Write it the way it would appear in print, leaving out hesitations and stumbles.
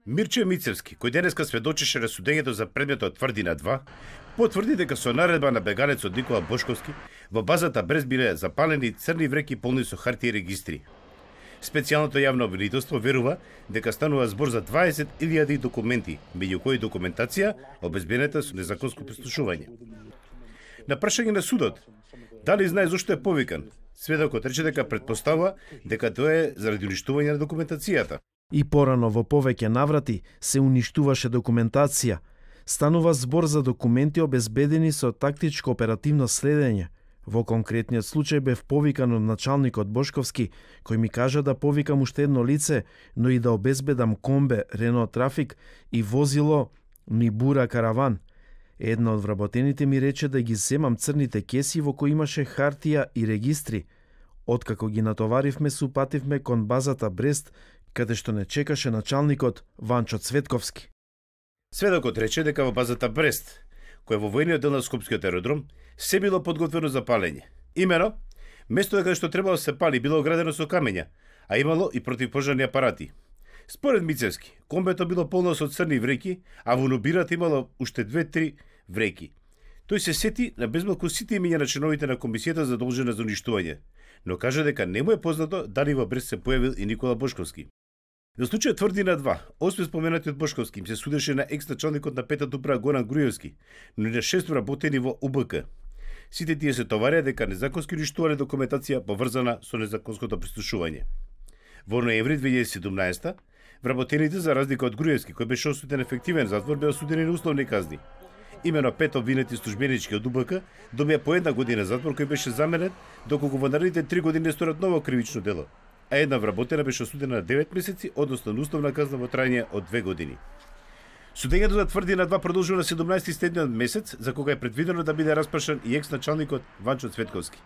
Мирче Мицевски, кој денеска сведочеше на судењето за предметот Тврдина 2, потврди дека со наредба на бегалецот Никола Бошковски во базата Брест биле запалени црни вреки полни со хартија и регистри. Специјалното јавно обвинителство верува дека станува збор за 20.000 документи, меѓу кои документација обезбедена со незаконско прислушување. На прашање на судот, дали знае зошто е повикан, сведокот рече дека претпоставува дека тоа е заради уништување на документацијата. И порано во повеќе наврати се уништуваше документација. Станува збор за документи обезбедени со тактичко оперативно следење. Во конкретниот случај бев повикан од началникот Бошковски, кој ми кажа да повикам уште едно лице, но и да обезбедам комбе Рено Трафик и возило Мибура Караван. Една од вработените ми рече да ги земам црните кеси во кои имаше хартија и регистри. Откако ги натоваривме, се упативме кон базата Брест, каде што не чекаше началникот Ванчо Цветковски. Сведокот рече дека во базата Брест, која во војниот дел на Скопскиот аеродром, се било подготвено за палење. Имено, место каде што требало се пали било оградено со камења, а имало и противпожарни апарати. Според Мицевски, комбето било полно со црни вреки, а во нобирата имало уште 2-3 вреки. Тој се сети на безмалку сите имиња на членовите на комисијата задолжена за уништување, но кажа дека не му е познато дали во Брест се појавил и Никола Бошковски. За случајот Тврдина 2, освен споменатиот Бошковски, им се судеше на екс-началникот на петата управа Горан Груевски, но и на 6 вработени во УБК. Сите тие се товарија дека незаконски уништувале документација поврзана со незаконското прислушување. Во ноември 2017, вработените, за разлика од Груевски, кој беше осуден ефективен затвор, беа осудени на условни казни. Имено 5 обвинети службенички од УБК добија по 1 година затвор кој беше заменет доколку во наредните 3 години сторат ново кривично дело, а една вработена беше осудена на 9 месеци, односно на условна казна во трајање од 2 години. Судењето за Тврдина 2 продолжува на 17 следниот месец, за кога е предвидено да биде распрашан и екс-началникот Ванчо Цветковски.